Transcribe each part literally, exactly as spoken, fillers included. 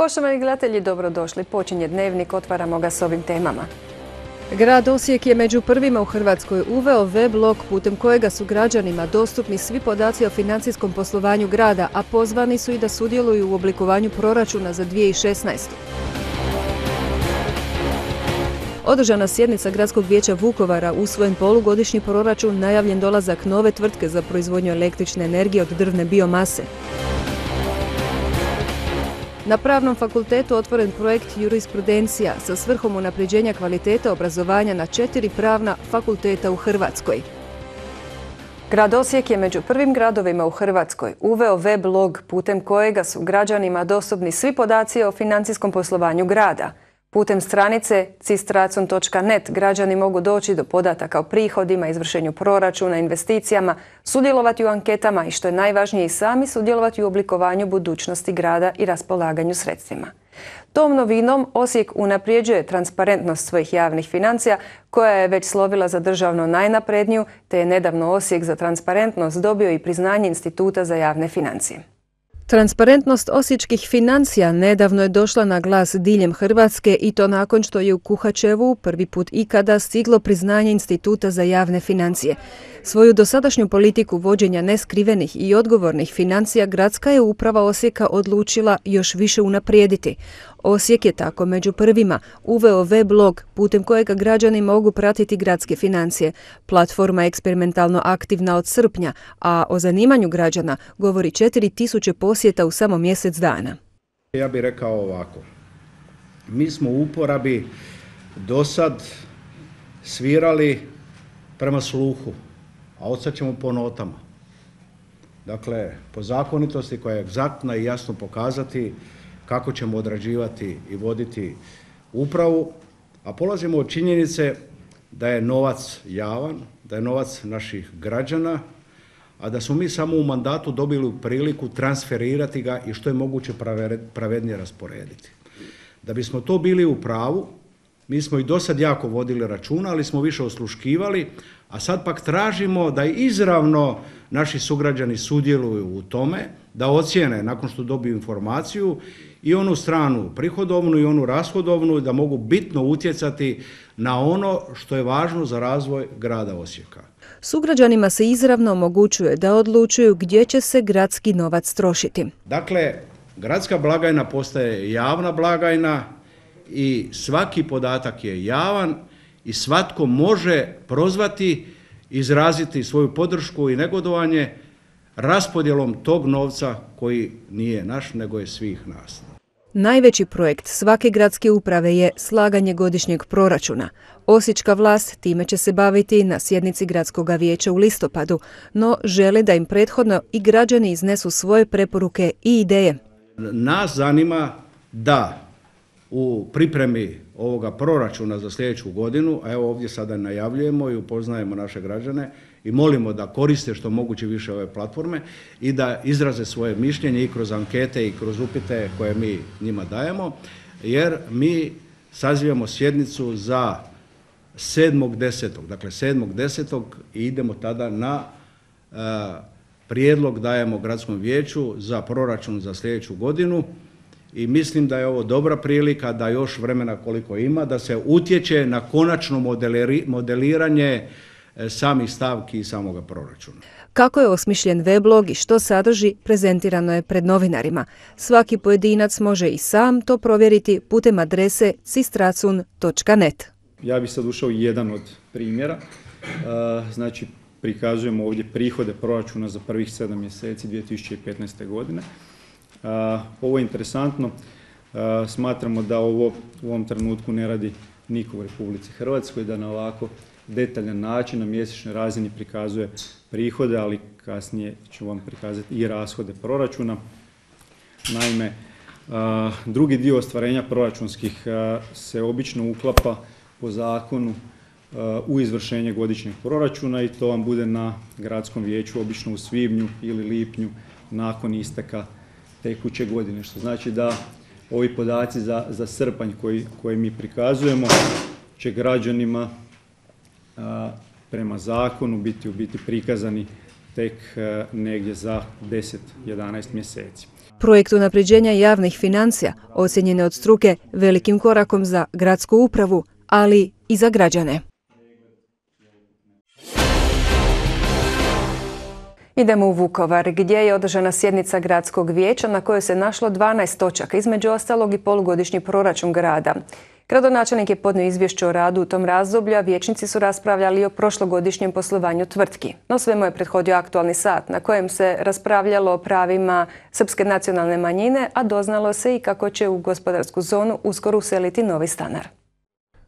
Poštovani gledatelji, dobrodošli. Počinje Dnevnik, otvaramo ga s ovim temama. Grad Osijek je među prvima u Hrvatskoj uveo web-blog putem kojega su građanima dostupni svi podaci o financijskom poslovanju grada, a pozvani su i da sudjeluju u oblikovanju proračuna za dvije tisuće šesnaestu. Održana sjednica Gradskog vijeća Vukovara, usvojen polugodišnji proračun, najavljen dolazak nove tvrtke za proizvodnju električne energije od drvne biomase. Na Pravnom fakultetu otvoren projekt Jurisprudencija sa svrhom unapređenja kvalitete obrazovanja na četiri pravna fakulteta u Hrvatskoj. Grad Osijek je među prvim gradovima u Hrvatskoj uveo web-blog putem kojega su građanima dostupni svi podaci o financijskom poslovanju grada. Putem stranice cistracun točka net građani mogu doći do podataka o prihodima, izvršenju proračuna, investicijama, sudjelovati u anketama i, što je najvažnije, i sami sudjelovati u oblikovanju budućnosti grada i raspolaganju sredstvima. Tom novinom Osijek unaprijeđuje transparentnost svojih javnih financija, koja je već slovila za državno najnapredniju, te je nedavno Osijek za transparentnost dobio i priznanje Instituta za javne financije. Transparentnost osječkih financija nedavno je došla na glas diljem Hrvatske, i to nakon što je u Kuhačevu prvi put ikada stiglo priznanje Instituta za javne financije. Svoju dosadašnju politiku vođenja neskrivenih i odgovornih financija gradska je uprava Osijeka odlučila još više unaprijediti. Osijek je tako među prvima uveo web-blog putem kojega građani mogu pratiti gradske financije. Platforma je eksperimentalno aktivna od srpnja, a o zanimanju građana govori četiri tisuće posjeta u samo mjesec dana. Ja bih rekao ovako. Mi smo u uporabi do sad svirali prema sluhu, a od sad ćemo po notama. Dakle, po zakonitosti koja je egzaktna i jasno pokazati kako ćemo odrađivati i voditi upravu, a polazimo od činjenice da je novac javan, da je novac naših građana, a da smo mi samo u mandatu dobili priliku transferirati ga i što je moguće pravednije rasporediti. Da bismo to bili u pravu, mi smo i do sad jako vodili računa, ali smo više osluškivali, a sad pak tražimo da izravno naši sugrađani sudjeluju u tome, da ocijene nakon što dobiju informaciju i onu stranu prihodovnu i onu rashodovnu, da mogu bitno utjecati na ono što je važno za razvoj grada Osijeka. Sugrađanima se izravno omogućuje da odlučuju gdje će se gradski novac trošiti. Dakle, gradska blagajna postaje javna blagajna i svaki podatak je javan i svatko može prozvati, izraziti svoju podršku i negodovanje raspodjelom tog novca koji nije naš, nego je svih nas. Najveći projekt svake gradske uprave je slaganje godišnjeg proračuna. Osječka vlast time će se baviti na sjednici Gradskog vijeća u listopadu, no žele da im prethodno i građani iznesu svoje preporuke i ideje. Nas zanima da u pripremi ovoga proračuna za sljedeću godinu, a evo ovdje sada najavljujemo i upoznajemo naše građane i molimo da koriste što moguće više ove platforme i da izraze svoje mišljenje i kroz ankete i kroz upite koje mi njima dajemo, jer mi sazivamo sjednicu za sedmog desetog Dakle, sedmog desetog i idemo tada na uh, prijedlog dajemo Gradskom vijeću za proračun za sljedeću godinu. I mislim da je ovo dobra prilika, da još vremena koliko ima, da se utječe na konačno modeliranje samih stavki i samoga proračuna. Kako je osmišljen web-blog i što sadrži, prezentirano je pred novinarima. Svaki pojedinac može i sam to provjeriti putem adrese cistracun točka net. Ja bih sad ušao jedan od primjera. Znači, prikazujemo ovdje prihode proračuna za prvih sedam mjeseci dvije tisuće petnaeste. godine. Uh, ovo je interesantno, uh, smatramo da ovo u ovom trenutku ne radi niko u Republici Hrvatskoj, da na ovako detaljan način na mjesečnoj razini prikazuje prihode, ali kasnije ću vam prikazati i rashode proračuna. Naime, uh, drugi dio ostvarenja proračunskih uh, se obično uklapa po zakonu uh, u izvršenje godišnjeg proračuna i to vam bude na Gradskom vijeću obično u svibnju ili lipnju nakon isteka tekuće godine, što znači da ovi podaci za, za srpanj koji, koje mi prikazujemo će građanima a, prema zakonu biti u biti prikazani tek a, negdje za deset do jedanaest mjeseci. Projekt unapređenja javnih financija ocjenjen je od struke velikim korakom za gradsku upravu, ali i za građane. Idemo u Vukovar, gdje je održana sjednica gradskog vijeća na kojoj se našlo dvanaest točaka, između ostalog i polugodišnji proračun grada. Gradonačelnik je podnio izvješće o radu u tom razdoblju, a vijećnici su raspravljali o prošlogodišnjem poslovanju tvrtki. No svemu je prethodio aktualni sat na kojem se raspravljalo o pravima srpske nacionalne manjine, a doznalo se i kako će u gospodarsku zonu uskoro useliti novi stanar.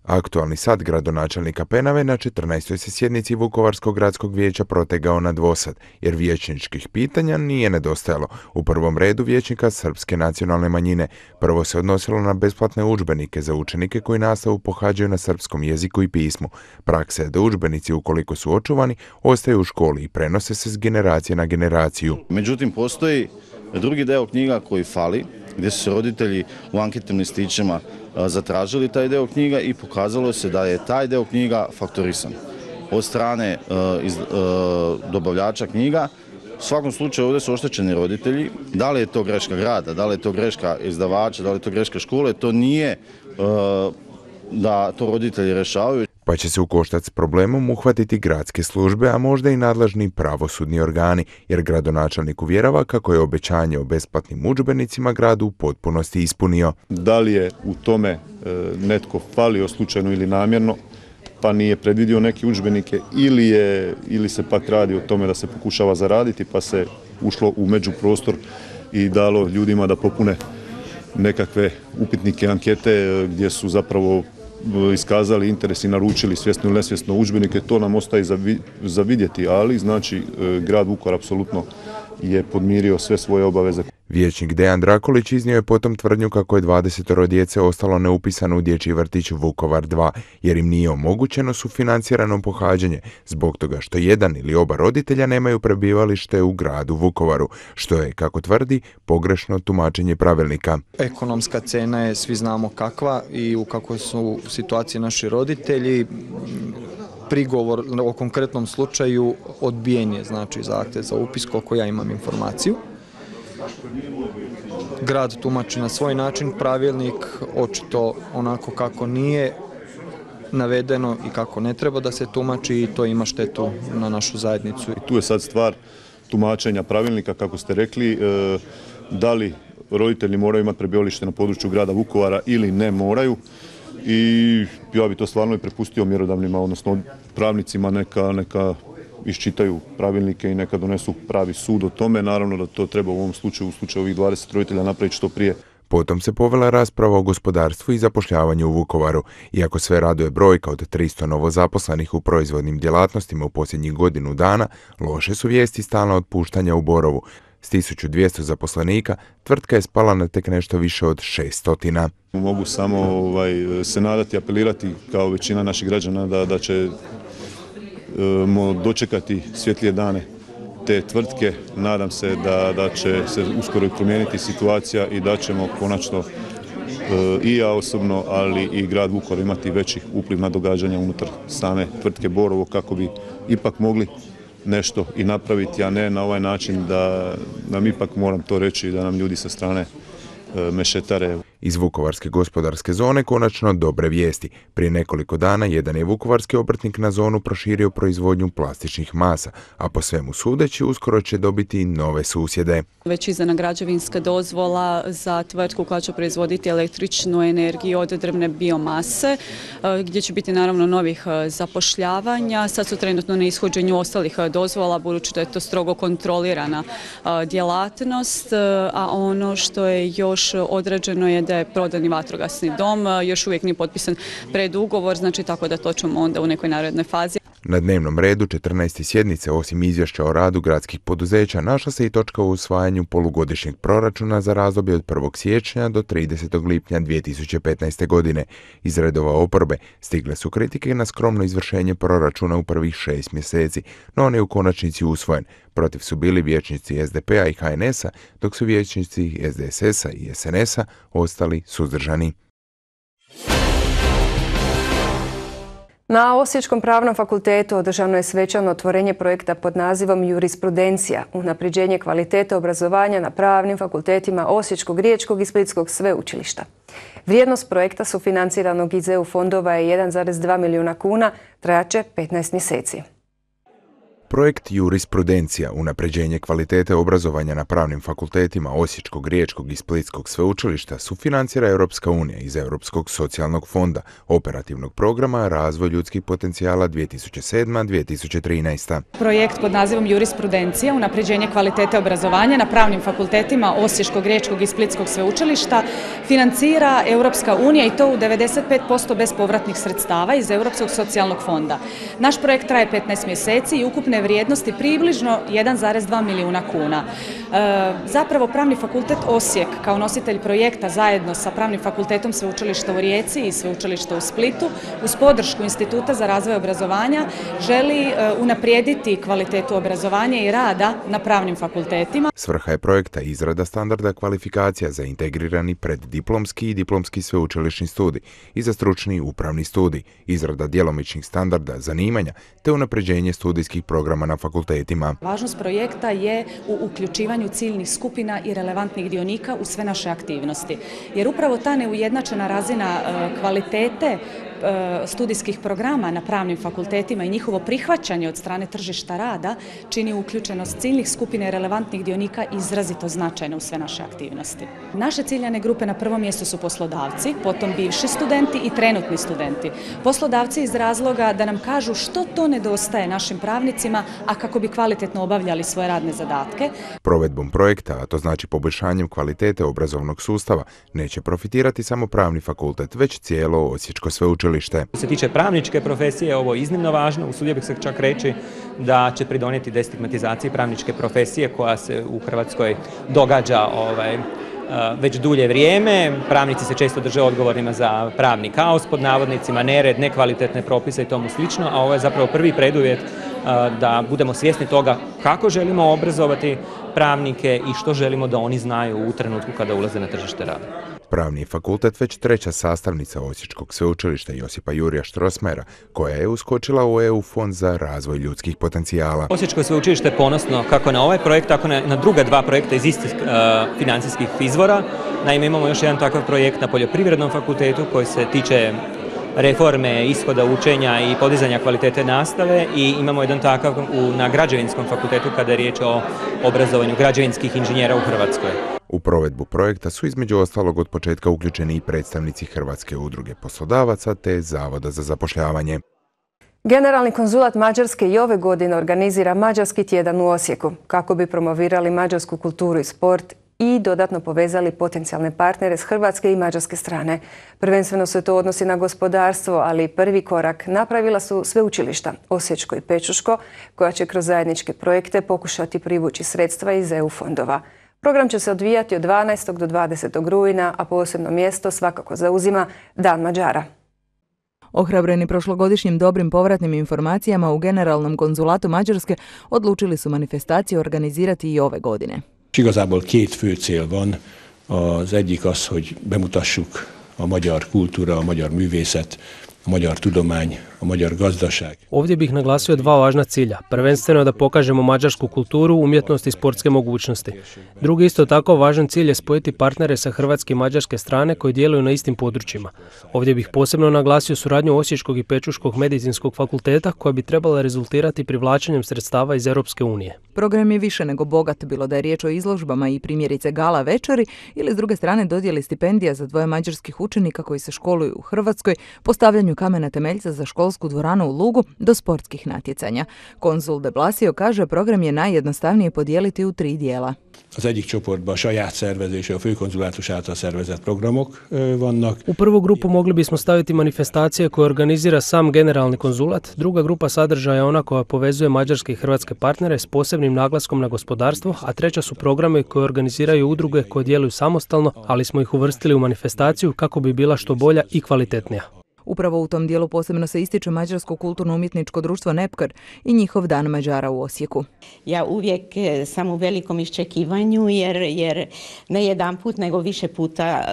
Aktualni sat gradonačelnika Penave na četrnaestoj se sjednici Vukovarskog gradskog vijeća protegao na dvosat, jer vijećničkih pitanja nije nedostajalo. U prvom redu vijećnika srpske nacionalne manjine. Prvo se odnosilo na besplatne udžbenike za učenike koji nastavu pohađaju na srpskom jeziku i pismu. Praksa je da udžbenici, ukoliko su očuvani, ostaju u školi i prenose se s generacije na generaciju. Međutim, postoji drugi deo knjiga koji fali, gdje su se roditelji u anketnim listićima zatražili taj deo knjiga i pokazalo se da je taj deo knjiga faktorisan od strane uh, iz, uh, dobavljača knjiga. U svakom slučaju ovdje su oštećeni roditelji. Da li je to greška grada, da li je to greška izdavača, da li je to greška škole, to nije uh, da to roditelji rješavaju. Pa će se u koštac s problemom uhvatiti gradske službe, a možda i nadležni pravosudni organi, jer gradonačelnik uvjerava kako je obećanje o besplatnim udžbenicima gradu u potpunosti ispunio. Da li je u tome e, netko falio slučajno ili namjerno, pa nije predvidio neke udžbenike, ili, je, ili se pak radi o tome da se pokušava zaraditi, pa se ušlo u međuprostor i dalo ljudima da popune nekakve upitnike, ankete gdje su zapravo iskazali interes i naručili svjesno ili nesvjesno udžbenike, to nam ostaje za vidjeti, ali znači grad Vukovar apsolutno je podmirio sve svoje obaveze. Vijećnik Dejan Drakolić iznio je potom tvrdnju kako je dvadesetoro djece ostalo neupisano u dječji vrtić Vukovar dva, jer im nije omogućeno sufinancirano pohađanje, zbog toga što jedan ili oba roditelja nemaju prebivalište u gradu Vukovaru, što je, kako tvrdi, pogrešno tumačenje pravilnika. Ekonomska cena je, svi znamo kakva i u kakvoj su situaciji naši roditelji. Prigovor o konkretnom slučaju odbijen je, znači zahtjev za upis, koliko ja imam informaciju. Grad tumači na svoj način pravilnik, očito onako kako nije navedeno i kako ne treba da se tumači, i to ima štetu na našu zajednicu. I tu je sad stvar tumačenja pravilnika, kako ste rekli, da li roditelji moraju imati prebivalište na području grada Vukovara ili ne moraju. I ja bi to stvarno i prepustio mjerodavnima, odnosno pravnicima, neka, neka iščitaju pravilnike i neka donesu pravi sud o tome. Naravno da to treba u ovom slučaju, u slučaju ovih dvadeset roditelja, napraviti što prije. Potom se povela rasprava o gospodarstvu i zapošljavanju u Vukovaru. Iako sve raduje brojka od tristo novozaposlenih u proizvodnim djelatnostima u posljednjih godinu dana, loše su vijesti stalna otpuštanja u Borovu. S tisuću dvjesto zaposlenika tvrtka je spala na tek nešto više od šesto. Mogu samo ovaj, se nadati, apelirati kao većina naših građana da, da ćemo dočekati svjetlije dane te tvrtke. Nadam se da, da će se uskoro promijeniti situacija i da ćemo konačno i ja osobno, ali i grad Vukovar imati veći upliv na događanja unutar same tvrtke Borovo, kako bi ipak mogli nešto i napraviti, a ne na ovaj način da nam ipak, moram to reći, da nam ljudi sa strane e, mešetare. Iz Vukovarske gospodarske zone konačno dobre vijesti. Prije nekoliko dana jedan je vukovarski obrtnik na zonu proširio proizvodnju plastičnih masa, a po svemu sudeći uskoro će dobiti nove susjede. Već izdana građevinska dozvola za tvrtku koja će proizvoditi električnu energiju od drvne biomase, gdje će biti naravno novih zapošljavanja. Sad su trenutno na ishođenju ostalih dozvola, budući da je to strogo kontrolirana djelatnost, a ono što je još određeno je da je prodani vatrogasni dom, još uvijek nije potpisan predugovor, znači tako da to ćemo onda u nekoj narednoj fazi. Na dnevnom redu četrnaeste sjednice, osim izvješća o radu gradskih poduzeća, našla se i točka o usvajanju polugodišnjeg proračuna za razdoblje od prvog siječnja do tridesetog lipnja dvije tisuće petnaeste. godine. Iz redova oporbe stigle su kritike na skromno izvršenje proračuna u prvih šest mjeseci, no on je u konačnici usvojen. Protiv su bili vijećnici es de pe a i ha en es a, dok su vijećnici es de es es a i es en es a ostali suzdržani. Na Osječkom pravnom fakultetu održano je svečano otvorenje projekta pod nazivom Jurisprudencija, unapređenje kvalitete obrazovanja na pravnim fakultetima Osječkog, Riječkog i Splitskog sveučilišta. Vrijednost projekta sufinanciranog iz E U fondova je jedan zarez dva milijuna kuna, trajaće petnaest mjeseci. Projekt Jurisprudencija, unapređenje kvalitete obrazovanja na pravnim fakultetima Osječkog, Riječkog i Splitskog sveučilišta sufinancira Europska unija iz Europskog socijalnog fonda, operativnog programa Razvoj ljudskih potencijala dvije tisuće sedma do dvije tisuće trinaesta. Projekt pod nazivom Jurisprudencija, unapređenje kvalitete obrazovanja na pravnim fakultetima Osječkog, Riječkog i Splitskog sveučilišta financira Europska unija i to u devedeset pet posto bespovratnih sredstava iz Europskog socijalnog fonda. Naš projekt traje petnaest mjeseci i ukupne vrijednosti približno jedan zarez dva milijuna kuna. E, zapravo Pravni fakultet Osijek kao nositelj projekta zajedno sa Pravnim fakultetom Sveučilišta u Rijeci i Sveučilišta u Splitu uz podršku Instituta za razvoj obrazovanja želi e, unaprijediti kvalitetu obrazovanja i rada na pravnim fakultetima. Svrha je projekta izrada standarda kvalifikacija za integrirani preddiplomski i diplomski sveučilišni studij i za stručni upravni studij, izrada djelomičnih standarda zanimanja te unapređenje studijskih programa na fakultetima. Važnost projekta je u uključivanju ciljnih skupina i relevantnih dionika u sve naše aktivnosti. Jer upravo ta neujednačena razina kvalitete studijskih programa na pravnim fakultetima i njihovo prihvaćanje od strane tržišta rada čini uključenost ciljnih skupina i relevantnih dionika izrazito značajno u sve naše aktivnosti. Naše ciljane grupe na prvom mjestu su poslodavci, potom bivši studenti i trenutni studenti. Poslodavci iz razloga da nam kažu što to nedostaje našim pravnicima, a kako bi kvalitetno obavljali svoje radne zadatke. Provedbom projekta, a to znači poboljšanjem kvalitete obrazovnog sustava, neće profitirati samo pravni fakultet, već cijelo Osječko sveučilište. Što se tiče pravničke profesije, ovo je iznimno važno, usudio bih se čak reći da će pridonijeti destigmatizaciji pravničke profesije koja se u Hrvatskoj događa ovaj, već dulje vrijeme. Pravnici se često drže odgovornima za pravni kaos, pod navodnicima, nered, nekvalitetne propise i tomu slično, a ovo je zapravo prvi preduvjet da budemo svjesni toga kako želimo obrazovati pravnike i što želimo da oni znaju u trenutku kada ulaze na tržište rada. Pravni fakultet već treća sastavnica Osječkog sveučilišta Josipa Jurija Strossmayera, koja je uskočila u E U fond za razvoj ljudskih potencijala. Osječko sveučilište je ponosno kako na ovaj projekt, tako na, na druga dva projekta iz istih uh, financijskih izvora. Naime, imamo još jedan takav projekt na Poljoprivrednom fakultetu koji se tiče reforme, ishoda učenja i podizanja kvalitete nastave i imamo jedan takav u, na Građevinskom fakultetu kada je riječ o obrazovanju građevinskih inženjera u Hrvatskoj. U provedbu projekta su između ostalog od početka uključeni i predstavnici Hrvatske udruge poslodavaca te Zavoda za zapošljavanje. Generalni konzulat Mađarske i ove godine organizira Mađarski tjedan u Osijeku kako bi promovirali mađarsku kulturu i sport i dodatno povezali potencijalne partnere s hrvatske i mađarske strane. Prvenstveno se to odnosi na gospodarstvo, ali prvi korak napravila su sveučilišta Osječko i Pečuško, koja će kroz zajedničke projekte pokušati privući sredstva iz E U fondova. Program će se odvijati od dvanaestog do dvadesetog rujna, a posebno mjesto svakako zauzima Dan Mađara. Ohrabreni prošlogodišnjim dobrim povratnim informacijama u Generalnom konzulatu Mađarske odlučili su manifestaciju organizirati i ove godine. Igazából két fő cél van. Az egyik az, hogy bemutassuk a magyar kultúra, a magyar művészet, a magyar tudomány, a magyar gazdaság. Ovdje bih naglasio dva važna cilja. Prvenstveno da pokažemo mađarsku kulturu, umjetnost i sportske mogućnosti. Drugi isto tako važan cilj je spojiti partnere sa hrvatske i mađarske strane koji djeluju na istim područjima. Ovdje bih posebno naglasio suradnju Osječkog i Pečuškog medicinskog fakulteta koja bi trebala rezultirati privlačenjem sredstava iz Europske unije. Program je više nego bogat, bilo da je riječ o izložbama i primjerice gala večeri ili s druge strane dodjeli stipendija za dvoje mađarskih učenika koji se školuju u Hrvatskoj, postavljanju kamena temeljca za školsku dvoranu u Lugu do sportskih natjecanja. Konzul de Blasio kaže program je najjednostavnije podijeliti u tri dijela. Az egyik csoportban saját szervezése, a főkonzulátus által szervezett programok vannak. U prvu grupu mogli bismo staviti manifestacije koje organizira sam generalni konzulat, druga grupa sadržaja je ona koja povezuje mađarske i hrvatske partnere s posebnim naglaskom na gospodarstvo, a treća su programe koje organiziraju udruge koje djeluju samostalno, ali smo ih uvrstili u manifestaciju kako bi bila što bolja i kvalitetnija. Upravo u tom dijelu posebno se ističe Mađarsko kulturno-umjetničko društvo Nepkar i njihov Dan Mađara u Osijeku. Ja uvijek sam u velikom iščekivanju jer, jer ne jedan put nego više puta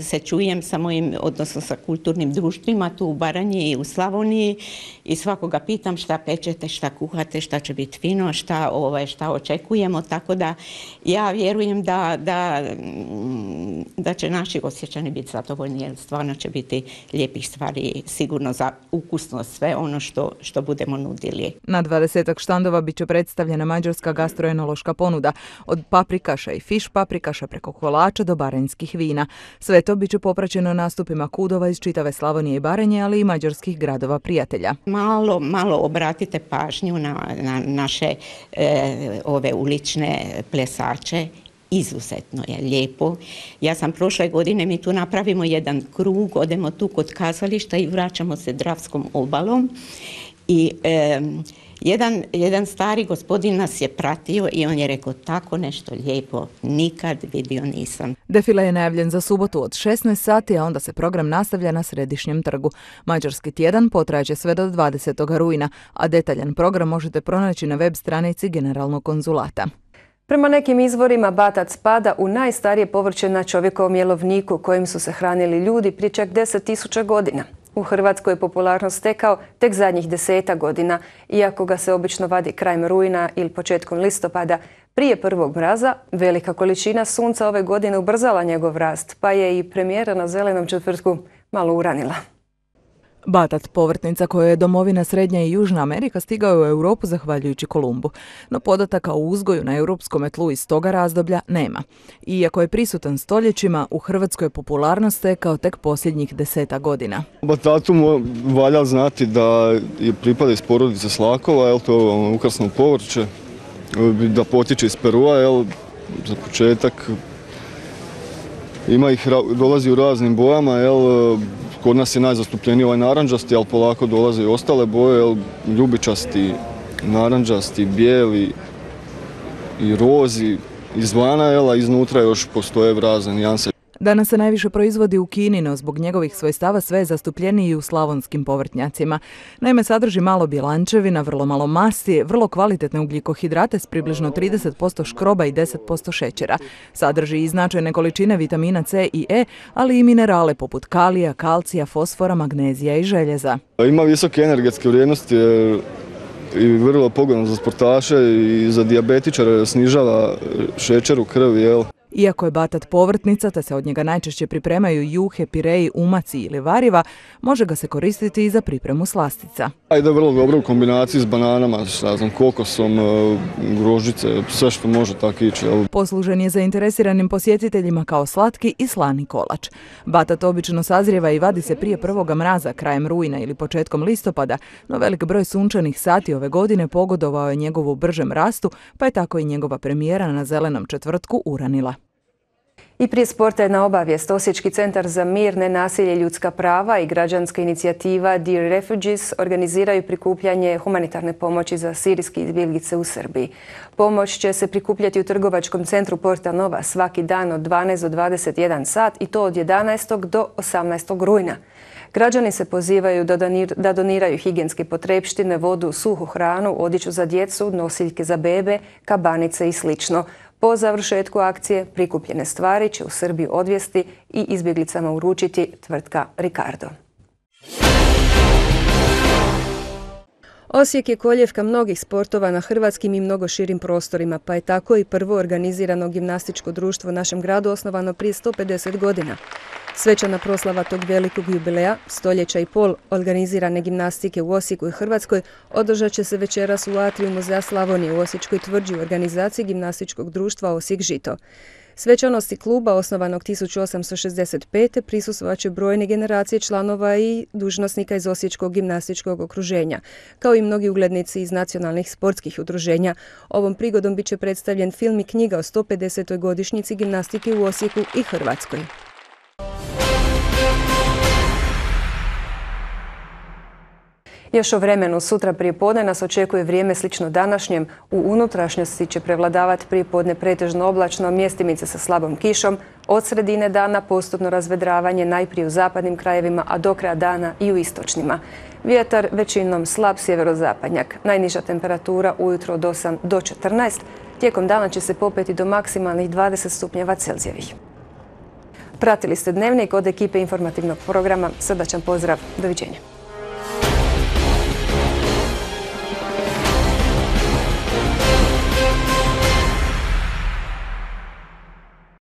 se čujem sa mojim, odnosno sa kulturnim društvima tu u Baranji i u Slavoniji i svakoga pitam šta pečete, šta kuhate, šta će biti fino, šta, ovaj, šta očekujemo, tako da ja vjerujem da, da, da će naši Osječani biti zadovoljni jer stvarno će biti lijepih stvari sigurno za ukusno sve ono što, što budemo nudili. Na dvadesetak štandova bit će predstavljena mađarska gastroenološka ponuda, od paprikaša i fiš paprikaša preko kolača do baranjskih vina. Sve to bit će popraćeno nastupima kudova iz čitave Slavonije i Baranje, ali i mađarskih gradova prijatelja. Malo, malo obratite pažnju na, na naše e, ove ulične plesače. Izuzetno je lijepo. Ja sam prošle godine, mi tu napravimo jedan krug, odemo tu kod kazališta i vraćamo se Dravskom obalom i e, jedan, jedan stari gospodin nas je pratio i on je rekao tako nešto lijepo nikad vidio nisam. Defile je najavljen za subotu od šesnaest sati, a onda se program nastavlja na Središnjem trgu. Mađarski tjedan potraće sve do dvadesetog rujna, a detaljan program možete pronaći na web stranici Generalnog konzulata. Prema nekim izvorima batac spada u najstarije povrće na čovjekovom jelovniku kojim su se hranili ljudi prije čak deset tisuća godina. U Hrvatskoj je popularnost stekao tek zadnjih deseta godina, iako ga se obično vadi krajem rujna ili početkom listopada. Prije prvog mraza velika količina sunca ove godine ubrzala njegov rast, pa je i premijera na Zelenom četvrtku malo uranila. Batac, povrtnica koja je domovina Srednja i Južna Amerika, stigao je u Europu zahvaljujući Kolumbu. No podataka o uzgoju na europskom tlu iz toga razdoblja nema. Iako je prisutan stoljećima, u Hrvatskoj je popularnost stekao tek posljednjih deseta godina. Batatu valja znati da je pripada iz porodice slakova, jel, to je ukrasno povrće, da potiče iz Perua, jel, za početak. Ima ih, dolazi u raznim bojama, jel, kod nas je najzastupljeniji ovaj naranđasti, ali polako dolaze i ostale boje, jel, ljubičasti, naranđasti, bijeli i rozi izvana, jel, a iznutra još postoje razne nijanse. Danas se najviše proizvodi u Kini, no zbog njegovih svojstava sve je zastupljeniji i u slavonskim povrtnjacima. Naime, sadrži malo bjelančevina, vrlo malo masti, vrlo kvalitetne ugljikohidrate s približno trideset posto škroba i deset posto šećera. Sadrži i značajne količine vitamina C i E, ali i minerale poput kalija, kalcija, fosfora, magnezija i željeza. Ima visoke energetske vrijednosti i vrlo pogodno za sportaše i za dijabetičare, snižava šećer u krvi, jel? Iako je batat povrtnica, te se od njega najčešće pripremaju juhe, pireji, umaci ili variva, može ga se koristiti i za pripremu slastica. Ide vrlo dobro u kombinaciji s bananama, šta znam, kokosom, grožđice, sve što može tako ići. Poslužen je zainteresiranim posjetiteljima kao slatki i slani kolač. Batat obično sazrijeva i vadi se prije prvoga mraza, krajem rujna ili početkom listopada, no velik broj sunčanih sati ove godine pogodovao je njegovu bržem rastu, pa je tako i njegova premijera na Zelenom četvrtku uranila. I prije sporta jedna obavijest. Osječki centar za mir, nenasilje i ljudska prava i građanska inicijativa Dear Refugees organiziraju prikupljanje humanitarne pomoći za sirijske izbjeglice u Srbiji. Pomoć će se prikupljati u trgovačkom centru Porta Nova svaki dan od dvanaest do dvadeset jedan sat i to od jedanaestog do osamnaestog rujna. Građani se pozivaju da doniraju higijenske potrepštine, vodu, suhu hranu, odjeću za djecu, nosiljke za bebe, kabanice i slično. Po završetku akcije prikupljene stvari će u Srbiju odvesti i izbjeglicama uručiti tvrtka Ricardo. Osijek je koljevka mnogih sportova na hrvatskim i mnogo širim prostorima, pa je tako i prvo organizirano gimnastičko društvo u našem gradu osnovano prije sto pedeset godina. Svečana proslava tog velikog jubileja, stoljeća i pol organizirane gimnastike u Osijeku i Hrvatskoj, održat će se večeras u atriju Muzeja Slavonije u Osječkoj tvrđi u organizaciji gimnastičkog društva Osijek Žito. Svečanosti kluba, osnovanog tisuću osamsto šezdeset pete prisustvovat će brojne generacije članova i dužnosnika iz Osječkog gimnastičkog okruženja, kao i mnogi uglednici iz nacionalnih sportskih udruženja. Ovom prigodom bit će predstavljen film i knjiga o sto pedesetoj godišnjici gimnastike u Osijeku i Hrvatskoj. Još o vremenu sutra prijepodne nas očekuje vrijeme slično današnjem. U unutrašnjosti će prevladavati prijepodne pretežno oblačno, mjestimice sa slabom kišom. Od sredine dana postupno razvedravanje najprije u zapadnim krajevima, a do kraja dana i u istočnima. Vjetar većinom slab sjeverozapadnjak. Najniža temperatura ujutro od osam do četrnaest. Tijekom dana će se popeti do maksimalnih dvadeset stupnjeva Celzijevih. Pratili ste Dnevnik od ekipe informativnog programa. Srdačan pozdrav. Doviđenja.